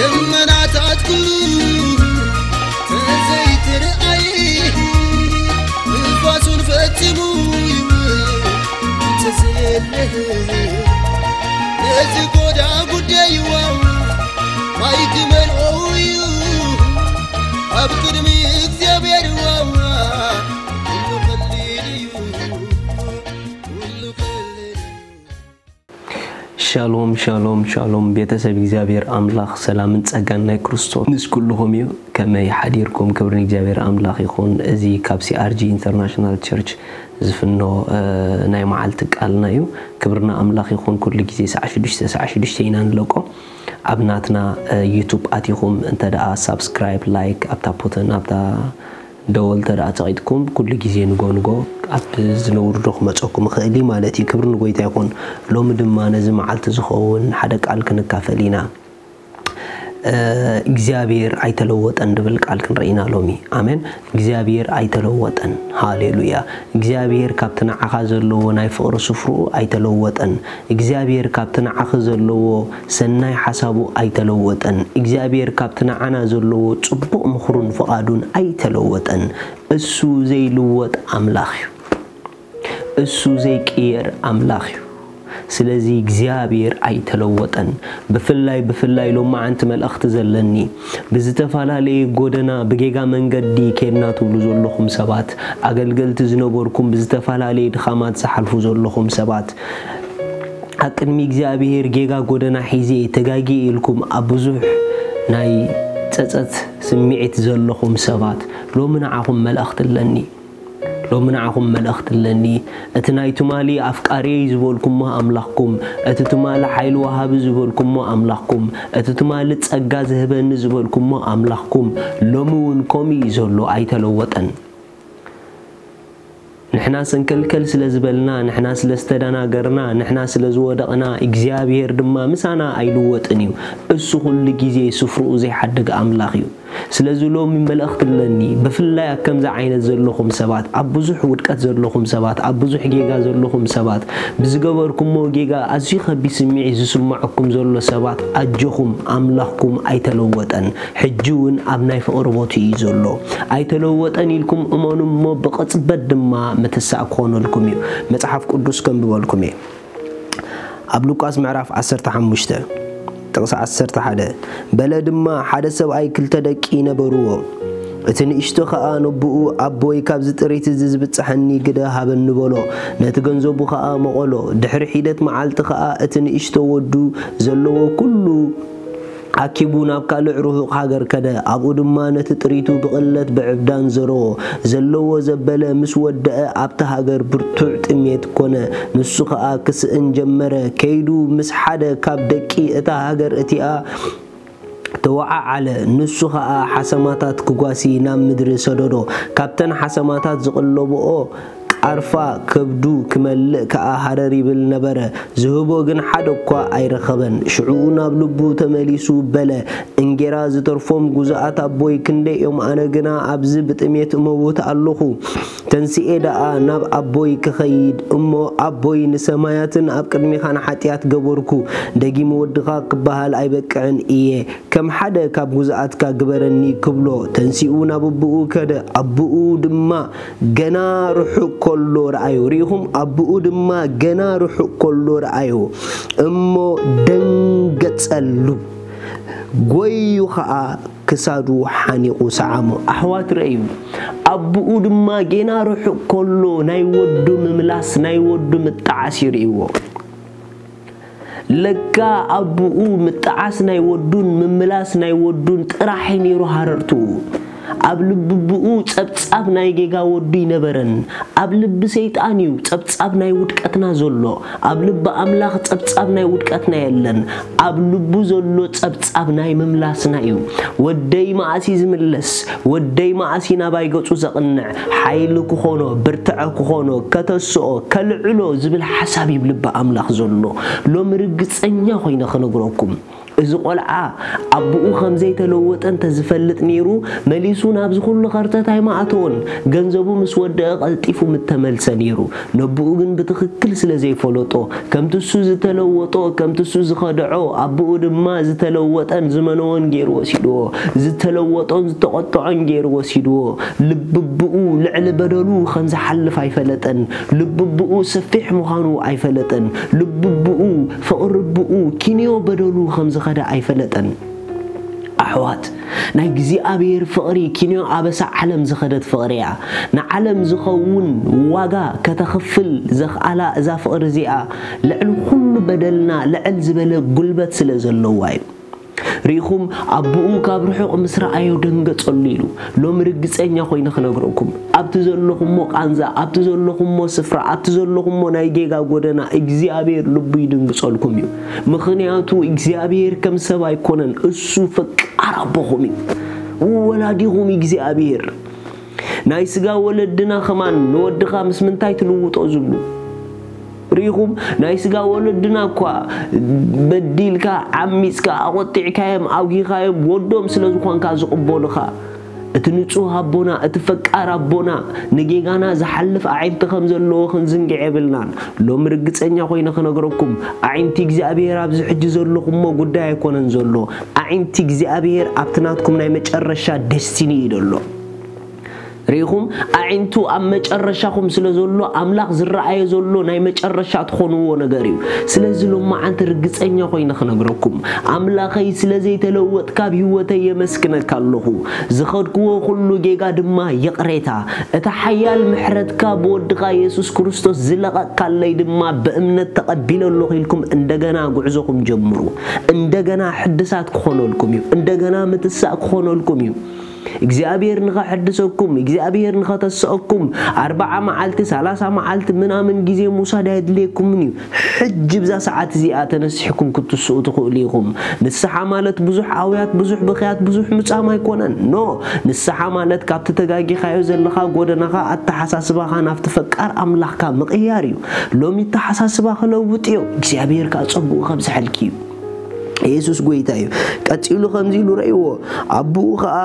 ደመናታት ኩሉ ተዘይትርኣይ፣ ንፋሱን ፈጺሙ ይውእ እንተዘየለ፣ ነዚ ጎዳ ጉዳይ ዋው ማይ ክመልኦ እዩ ኣብ ቅድሚ እግዚኣብሔር ዋዋ ኩሉ ቀሊል እዩ። ሻሎም ሻሎም ሻሎም ቤተሰብ እግዚኣብሔር ኣምላኽ ሰላምን ጸጋን ናይ ክርስቶስ ምስ ኩልኹም እዩ። ከመይ ሓዲርኩም? ክብሪ ንእግዚኣብሔር ኣምላኽ ይኹን። እዚ ካብ C R G International Church ዝፍኖ ናይ መዓልቲ ቃልና እዩ። ክብርና ኣምላኽ ይኹን። ኩሉ ግዜ ሰዓ ሽዱሽተ ሰዓ ሽዱሽተ ኢና ንለቆ። ኣብ ናትና YouTube ኣቲኹም እንተ ደኣ ሳብስክራይብ፣ ላይክ ኣብታ ፖተን ኣብታ ደወል ተደኣ ጸቒጥኩም ኩሉ ግዜ ንጎ ንጎ ኣብ ዝነውርዶ ክመጸኩም ይኽእል እዩ ማለት እዩ። ክብሪ ንጎይታ ይኹን። ሎሚ ድማ ነዚ መዓልቲ ዝኸውን ሓደ ቃል ክንካፈል ኢና። እግዚኣብሔር ኣይተለወጠን ድብል ቃል ክንርኢ ኢና ሎሚ። ኣሜን። እግዚኣብሔር ኣይተለወጠን። ሃሌሉያ። እግዚኣብሔር ካብቲ ንዓኻ ዘለዎ ናይ ፍቕሪ ስፍርኡ ኣይተለወጠን። እግዚኣብሔር ካብቲ ንዓኺ ዘለዎ ሰናይ ሓሳቡ ኣይተለወጠን። እግዚኣብሔር ካብቲ ንዓና ዘለዎ ጽቡቕ ምኽሩን ፍቓዱን ኣይተለወጠን። እሱ ዘይልወጥ ኣምላኽ እዩ። እሱ ዘይቅየር ኣምላኽ እዩ። ስለዚ እግዚኣብሔር ኣይተለወጠን። ብፍላይ ብፍላይ ሎማዓንቲ መልእኽቲ ዘለኒ ብዝተፈላለየ ጎደና ብጌጋ መንገዲ ኬድና ትብሉ ዘለኹም ሰባት፣ ኣገልገልቲ ዝነበርኩም ብዝተፈላለየ ድኻማት ዝሓልፉ ዘለኹም ሰባት፣ ኣብ ቅድሚ እግዚኣብሔር ጌጋ ጎደና ሒዜ ተጋጊ ኢልኩም ኣብ ብዙሕ ናይ ጸጸት ስምዒት ዘለኹም ሰባት ሎሚ ንዓኹም መልእኽቲ ኣለኒ። ሎሚ ንዓኹም መልእኽቲ ኣለኒ። እቲ ናይ ትማሊ ኣፍቃሪየይ ዝበልኩሞ ኣምላኽኩም፣ እቲ ትማሊ ሓይሊ ወሃቢ ዝበልኩሞ ኣምላኽኩም፣ እቲ ትማሊ ጸጋ ዝህበኒ ዝበልኩሞ ኣምላኽኩም ሎሚ እውን ከምኡ እዩ ዘሎ፣ ኣይተለወጠን። ንሕና ሰንከልከል ስለ ዝበልና፣ ንሕና ስለ ዝተደናገርና፣ ንሕና ስለ ዝወደቕና እግዚኣብሔር ድማ ምሳና ኣይልወጥን እዩ። እሱ ኩሉ ግዜ ስፍርኡ ዘይሓድግ ኣምላኽ እዩ። ስለዚ ሎሚ መልእኽቲ ኣለኒ። ብፍላይ ኣብ ከምዚ ዓይነት ዘለኹም ሰባት፣ ኣብ ብዙሕ ውድቀት ዘለኹም ሰባት፣ ኣብ ብዙሕ ጌጋ ዘለኹም ሰባት፣ ብዝገበርኩሞ ጌጋ ኣዝዩ ከቢድ ስምዒት ዝስምዐኩም ዘሎ ሰባት ኣጆኹም፣ ኣምላኽኩም ኣይተለወጠን። ሕጂ እውን ኣብ ናይ ፍቕሪ ቦትኡ እዩ ዘሎ። ኣይተለወጠን ኢልኩም እመኑ እሞ ብቕጽበት ድማ ምትሳእ ክኾነልኩም እዩ። መጽሓፍ ቅዱስ ከንብበልኩም እየ። ኣብ ሉቃስ ምዕራፍ ዓሰርተ ሓሙሽተ ጥቕሲ ዓሰርተ ሓደ፣ በለ ድማ ሓደ ሰብኣይ ክልተ ደቂ ነበርዎ። እቲ ንእሽቶ ኸኣ ነቦኡ ኣቦይ ካብዚ ጥሪት እዚ ዝብጽሐኒ ግደ ሃበኒ በሎ። ነቲ ገንዘቡ ኸኣ መቐሎ። ድሕሪ ሒደት መዓልቲ ኸኣ እቲ ንእሽቶ ወዱ ዘለዎ ኩሉ ኣኪቡ ናብ ካልእ ርሑቕ ሃገር ከደ። ኣብኡ ድማ ነቲ ጥሪቱ ብቕለት ብዕብዳን ዘርኦ። ዘለዎ ዘበለ ምስ ወደአ ኣብታ ሃገር ብርቱዕ ጥሜት ኮነ። ንሱ ኸኣ ክስእን ጀመረ። ከይዱ ምስ ሓደ ካብ ደቂ እታ ሃገር እቲኣ ተወዓዓለ። ንሱ ኸኣ ሓሰማታት ክጓሲ ናብ ምድሪ ሰደዶ። ካብተን ሓሰማታት ዝቕለብኦ ቃርፋ ከብዱ ክመልእ ከኣ ሃረር ይብል ነበረ። ዝህቦ ግን ሓደ እኳ ኣይረኸበን። ሽዑኡ ናብ ልቡ ተመሊሱ በለ፣ እንጌራ ዝተርፎም ጉዙኣት ኣቦይ ክንደይ እዮም? ኣነ ግና ኣብዚ ብጥሜት እመውት ኣለኹ። ተንስኤ ደኣ ናብ ኣቦይ ክኸይድ እሞ ኣቦይ ንሰማያትን ኣብ ቅድሜኻን ሓጢኣት ገበርኩ፣ ደጊም ወድኻ ክበሃል ኣይበቅዕን እየ። ከም ሓደ ካብ ጉዙኣትካ ግበረኒ ክብሎ ተንሲኡ ናብ ኣቦኡ ከደ። ኣቦኡ ድማ ገና ርሑቕ ከሎ ረኣዮ። ርኢኹም? ኣቦኡ ድማ ገና ርሑቕ ከሎ ረኣዮ እሞ ደንገጸሉ፣ ጎዩ ኸኣ ክሳዱ ሓኒቑ ሰዓሞ። ኣሕዋት ረእዩ። ኣቦኡ ድማ ገና ርሑቕ ከሎ ናይ ወዱ ምምላስ፣ ናይ ወዱ ምጥዓስ እዩ ርእይዎ። ለካ ኣቦኡ ምጥዓስ ናይ ወዱን ምምላስ ናይ ወዱን ጥራሕ እዩ ነይሩ ሃረርትኡ። ኣብ ልቢ ኣቦኡ ጸብጻብ ናይ ጌጋ ወዱ ኣይነበረን። ኣብ ልቢ ሰይጣን እዩ ጸብጻብ ናይ ውድቀትና ዘሎ። ኣብ ልቢ ኣምላኽ ጸብጻብ ናይ ውድቀትና የለን። ኣብ ልቡ ዘሎ ጸብጻብ ናይ ምምላስና እዩ። ወደይ መኣስ እዩ ዝምለስ? ወደይ መኣስ እዩ ናባይ ገጹ ዘቕንዕ? ሓይሊ ክኾኖ፣ ብርትዐ ክኾኖ፣ ከተስኦ፣ ከልዕሎ ዝብል ሓሳብ እዩ ኣብ ልቢ ኣምላኽ ዘሎ። ሎሚ ርግጸኛ ኮይነ ክነግረኩም፣ እዚ ቆልዓ ኣቦኡ ከም ዘይተለወጠ እንተ ዝፈልጥ ነይሩ፣ መሊሱ ናብዚ ኩሉ ከርተት ኣይምኣተወን። ገንዘቡ ምስ ወደአ ቀልጢፉ ምተመልሰ ነይሩ። ነቦኡ ግን ብትኽክል ስለ ዘይፈለጦ፣ ከምቲ እሱ ዝተለወጦ፣ ከምቲ እሱ ዝኸድዖ፣ ኣቦኡ ድማ ዝተለወጠን ዝመነወን ገይሩ ወሲድዎ። ዝተለወጦን ዝተቖጥዖን ገይሩ ወሲድዎ። ልቢ ኣቦኡ ልዕሊ በደሉ ከም ዝሓልፍ ኣይፈለጠን። ልቢ ኣቦኡ ሰፊሕ ምዃኑ ኣይፈለጠን። ልቢ ኣቦኡ፣ ፍቕሪ ኣቦኡ ኪንዮ በደሉ ከም ዝኸደ ኣይፈለጠን። ኣሕዋት፣ ናይ እግዚኣብሔር ፍቕሪ ኪንዮ ኣበሳ ዓለም ዝኸደት ፍቕሪ እያ። ንዓለም ዝኸውን ዋጋ ከተኽፍል ዘኽኣላ እዛ ፍቕሪ እዚኣ፣ ልዕሊ ኩሉ በደልና ልዕል ዝበለ ጉልበት ስለ ዘለዋ እዩ። ርኢኹም፣ ኣቦኡ ካብ ርሑቕ ምስ ረኣዮ ደንገጸሉ ኢሉ። ሎሚ ርግጸኛ ኮይነ ክነግረኩም፣ ኣብቲ ዘለኹሞ ቃንዛ፣ ኣብቲ ዘለኹሞ ስፍራ፣ ኣብቲ ዘለኹሞ ናይ ጌጋ ጎደና እግዚኣብሔር ልቡ ይድንግጸልኩም እዩ። ምኽንያቱ እግዚኣብሔር ከም ሰብ ኣይኮነን፣ እሱ ፈቃር ኣቦኹም እዩ። ወላዲኹም እግዚኣብሔር። ናይ ስጋ ወለድና ከማን ንወድኻ ምስ ምንታይ ትልውጦ ዝብሉ ርኢኹም፣ ናይ ስጋ ወለድና እኳ በዲልካ፣ ዓሚጽካ፣ ኣቖጢዕካዮም፣ ኣውጊኻዮም፣ ወዶም ስለ ዝኾንካ ዝቕበሉኻ። እቲ ንጹህ ኣቦና፣ እቲ ፈቃር ኣቦና፣ ንጌጋና ዝሓልፍ ኣዒንቲ ከም ዘለዎ ክንዝንግዕ የብልናን። ሎሚ ርግጸኛ ኮይነ ክነግረኩም፣ ኣዒንቲ እግዚኣብሔር ኣብዚ ሕጂ ዘለኹሞ ጉዳይ ኣይኮነን ዘሎ። ኣዒንቲ እግዚኣብሔር ኣብቲ ናትኩም ናይ መጨረሻ ደስቲኒ እዩ ዘሎ። ርኢኹም፣ ኣዒንቱ ኣብ መጨረሻኹም ስለ ዘሎ፣ ኣምላኽ ዝረኣዮ ዘሎ ናይ መጨረሻ ትኾንዎ ነገር እዩ። ስለዚ ሎማዓንቲ ርግጸኛ ኮይነ ክነግረኩም፣ ኣምላኸይ ስለ ዘይተለወጥካ ኣብ ህይወተይ የመስግነካ ኣለኹ። ዝኸድክዎ ኩሉ ጌጋ ድማ ይቕሬታ። እቲ ሓያል ምሕረትካ ብወድኻ የሱስ ክርስቶስ ዝለቐቕካለይ ድማ ብእምነት ተቐቢለ ኣለኹ ኢልኩም እንደገና ጉዕዞኹም ጀምሩ። እንደገና ሕድሳት ክኾነልኩም እዩ። እንደገና ምትሳእ ክኾነልኩም እዩ። እግዚኣብሔር ንኸሕድሰኩም፣ እግዚኣብሔር ንኸተስአኩም፣ ኣርብዓ መዓልቲ፣ ሰላሳ መዓልቲ ምናምን ግዜ ምውሳድ ኣየድልየኩምን እዩ። ሕጂ ብዛ ሰዓት እዚኣ ተነሲሕኩም ክትስኡ ትኽእሉ ኢኹም። ንስሓ ማለት ብዙሕ ኣውያት፣ ብዙሕ ብኽያት፣ ብዙሕ ምጻም ኣይኮነን። ኖ፣ ንስሓ ማለት ካብቲ ተጋጊኻዮ ዘለኻ ጎደናኻ፣ ኣተሓሳስባኻ ናብቲ ፈቃር ኣምላኽካ ምቕያር እዩ። ሎሚ ኣተሓሳስባ ክለውጥ እዮ። እግዚኣብሔር ከኣ ጸጉኡ ከብዝሐልኪ እዩ። የሱስ ጐይታ እዩ። ቀጺሉ ከምዚ ኢሉ ረእይዎ፣ ኣቦኡ ኸኣ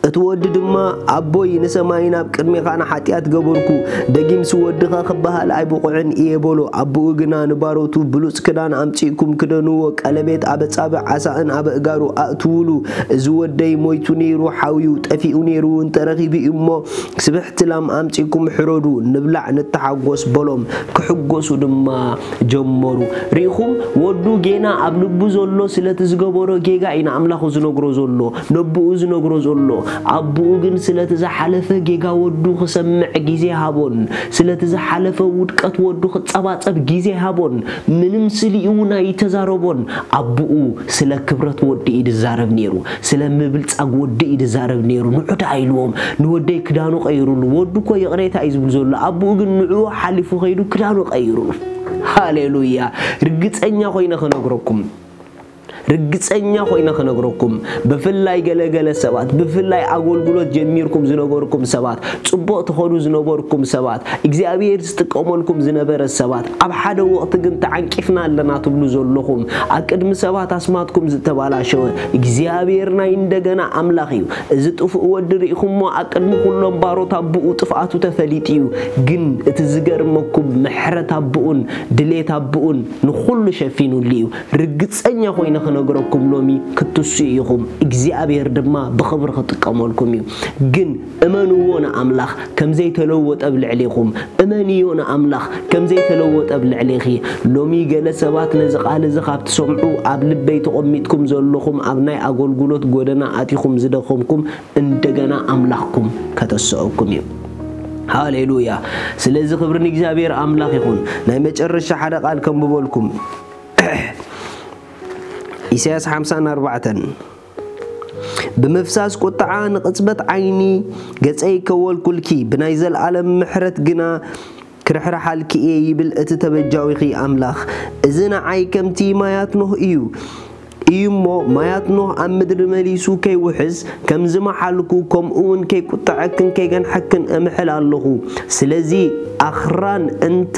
እቲ ወዲ ድማ፣ ኣቦይ፣ ንሰማይን ኣብ ቅድሜኻን ሓጢኣት ገበርኩ፣ ደጊምሲ ወድኻ ክበሃል ኣይብቑዕን እየ በሎ። ኣቦኡ ግና ንባሮቱ፣ ብሉጽ ክዳን ኣምጺእኩም ክደንዎ፣ ቀለቤት ኣብ ኣጻብዕ ዓሳእን ኣብ ኣእጋሩ ኣእትውሉ። እዚ ወደይ ሞይቱ ነይሩ፣ ሓውዩ፣ ጠፊኡ ነይሩ፣ እንተ ረኺቡ እዩ እሞ፣ ስብሕቲ ላም ኣምጺእኩም ሕረዱ፣ ንብላዕ፣ ንተሓጎስ በሎም። ክሕጎሱ ድማ ጀመሩ። ርኢኹም፣ ወዱ ጌና ኣብ ልቡ ዘሎ ስለቲ ዝገበሮ ጌጋ እዩ ንኣምላኹ ዝነግሮ ዘሎ፣ ነቦኡ ዝነግሮ ዘሎ። ኣቦኡ ግን ስለቲ ዝሓለፈ ጌጋ ወዱ ክሰምዕ ግዜ ሃቦን፣ ስለቲ ዝሓለፈ ውድቀት ወዱ ክጸባጸብ ግዜ ሃቦን፣ ምንም ስሊኡ እውን ኣይተዛረቦን። ኣቦኡ ስለ ክብረት ወዲ እዩ ዝዛረብ ነይሩ፣ ስለ ምብልጻግ ወዲ እዩ ዝዛረብ ነይሩ። ንዑ ደኣ ኢልዎም፣ ንወደይ ክዳኑ ቀይሩሉ። ወዱ እኮ ይቕሬታ እዩ ዝብል ዘሎ፣ ኣቦኡ ግን ንዕኡ ሓሊፉ ከይዱ ክዳኑ ቀይሩሉ። ሃሌሉያ! ርግጸኛ ኮይነ ክነግረኩም፣ ርግጸኛ ኮይነ ክነግረኩም፣ ብፍላይ ገለገለ ሰባት፣ ብፍላይ ኣገልግሎት ጀሚርኩም ዝነበርኩም ሰባት፣ ጽቡቕ ትኸዱ ዝነበርኩም ሰባት፣ እግዚኣብሔር ዝጥቀመልኩም ዝነበረ ሰባት፣ ኣብ ሓደ ወቕቲ ግን ተዓንቂፍና ኣለና ትብሉ ዘለኹም፣ ኣብ ቅድሚ ሰባት ኣስማትኩም ዝተባላሸወ፣ እግዚኣብሔር ናይ እንደገና ኣምላኽ እዩ። እዚ ጥፉእ ወዲ ርኢኹሞ፣ ኣብ ቅድሚ ኩሎም ባሮት ኣቦኡ ጥፍኣቱ ተፈሊጡ እዩ። ግን እቲ ዝገርመኩም፣ ምሕረት ኣቦኡን ድሌት ኣቦኡን ንኹሉ ሸፊኑሉ እዩ። ርግጸኛ ኮይነ ክነግረኩም፣ ሎሚ ክትስኡ ኢኹም፣ እግዚኣብሔር ድማ ብኽብሪ ክጥቀመልኩም እዩ። ግን እመንዎ ንኣምላኽ ከም ዘይተለወጠ ኣብ ልዕሌኹም፣ እመንዮ ንኣምላኽ ከም ዘይተለወጠ ኣብ ልዕሌኺ። ሎሚ ገለ ሰባት ነዚ ቃል እዚ ካብ ትሰምዑ፣ ኣብ ልበይ ተቐሚጥኩም ዘለኹም፣ ኣብ ናይ ኣገልግሎት ጎደና ኣቲኹም ዝደኸምኩም፣ እንደገና ኣምላኽኩም ከተስአኩም እዩ። ሃሌሉያ! ስለዚ ክብሪ ንእግዚኣብሔር ኣምላኽ ይኹን። ናይ መጨረሻ ሓደ ቃል ከንብበልኩም። ኢሳያስ ሓምሳን ኣርባዕተን፣ ብምፍሳስ ቁጥዓ ንቕጽበት ዓይኒ ገጸይ ከወልኩልኪ፣ ብናይ ዘልኣለም ምሕረት ግና ክርሕርሓልኪ እየ ይብል እቲ ተበጃዊኺ ኣምላኽ። እዚ ንዓይ ከምቲ ማያት ኖህ እዩ። እዩ እሞ ማያት ኖህ ኣብ ምድሪ መሊሱ ከይውሕዝ ከም ዝመሓልኩ፣ ከምኡ እውን ከይቁጥዐክን ከይገንሐክን እምሕል ኣለኹ። ስለዚ ኣኽራን እንተ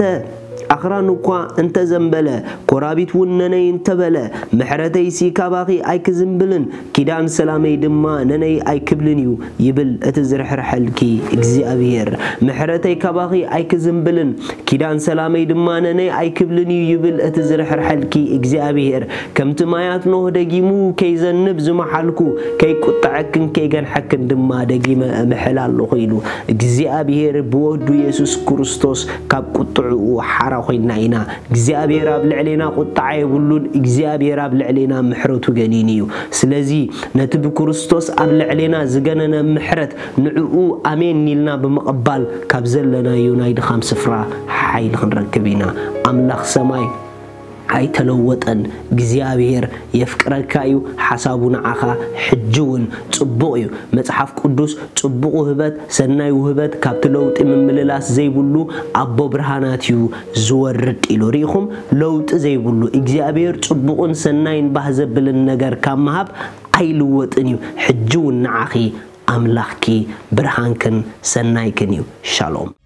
ኣኽራን እኳ እንተዘንበለ፣ ኮራቢት እውን ነነይ እንተበለ፣ ምሕረተይሲ ካባኺ ኣይክዝንብልን፣ ኪዳን ሰላመይ ድማ ነነይ ኣይክብልን እዩ፣ ይብል እቲ ዝርሕርሐልኪ እግዚኣብሔር። ምሕረተይ ካባኺ ኣይክዝንብልን፣ ኪዳን ሰላመይ ድማ ነነይ ኣይክብልን እዩ፣ ይብል እቲ ዝርሕርሐልኪ እግዚኣብሔር። ከምቲ ማያት ኖህ ደጊሙ ከይዘንብ ዝመሓልኩ፣ ከይቁጥዐክን ከይገንሐክን ድማ ደጊመ እምሕል ኣለኹ፣ ኢሉ እግዚኣብሔር ብወዱ የሱስ ክርስቶስ ካብ ቁጥዕኡ ሓራ ኮይና ኢና። እግዚኣብሔር ኣብ ልዕሌና ቁጥዓ የብሉን። እግዚኣብሔር ኣብ ልዕሌና ምሕረቱ ገኒኑ እዩ። ስለዚ ነቲ ብክርስቶስ ኣብ ልዕሌና ዝገነነ ምሕረት ንዕኡ ኣሜን ኢልና ብምቕባል ካብ ዘለናዮ ናይ ድኻም ስፍራ ሓይሊ ክንረክብ ኢና። ኣምላኽ ሰማይ ኣይተለወጠን። እግዚኣብሔር የፍቅረካ እዩ። ሓሳቡ ንዓኻ ሕጂ እውን ጽቡቕ እዩ። መጽሓፍ ቅዱስ ጽቡቕ ውህበት፣ ሰናይ ውህበት ካብቲ ለውጢ ምምልላስ ዘይብሉ ኣቦ ብርሃናት እዩ ዝወርድ ኢሉ። ርኢኹም? ለውጢ ዘይብሉ እግዚኣብሔር ጽቡቕን ሰናይን ባህ ዘብልን ነገር ካብ ምሃብ ኣይልወጥን እዩ። ሕጂ እውን ንዓኺ ኣምላኽኪ ብርሃንክን ሰናይክን እዩ። ሻሎም።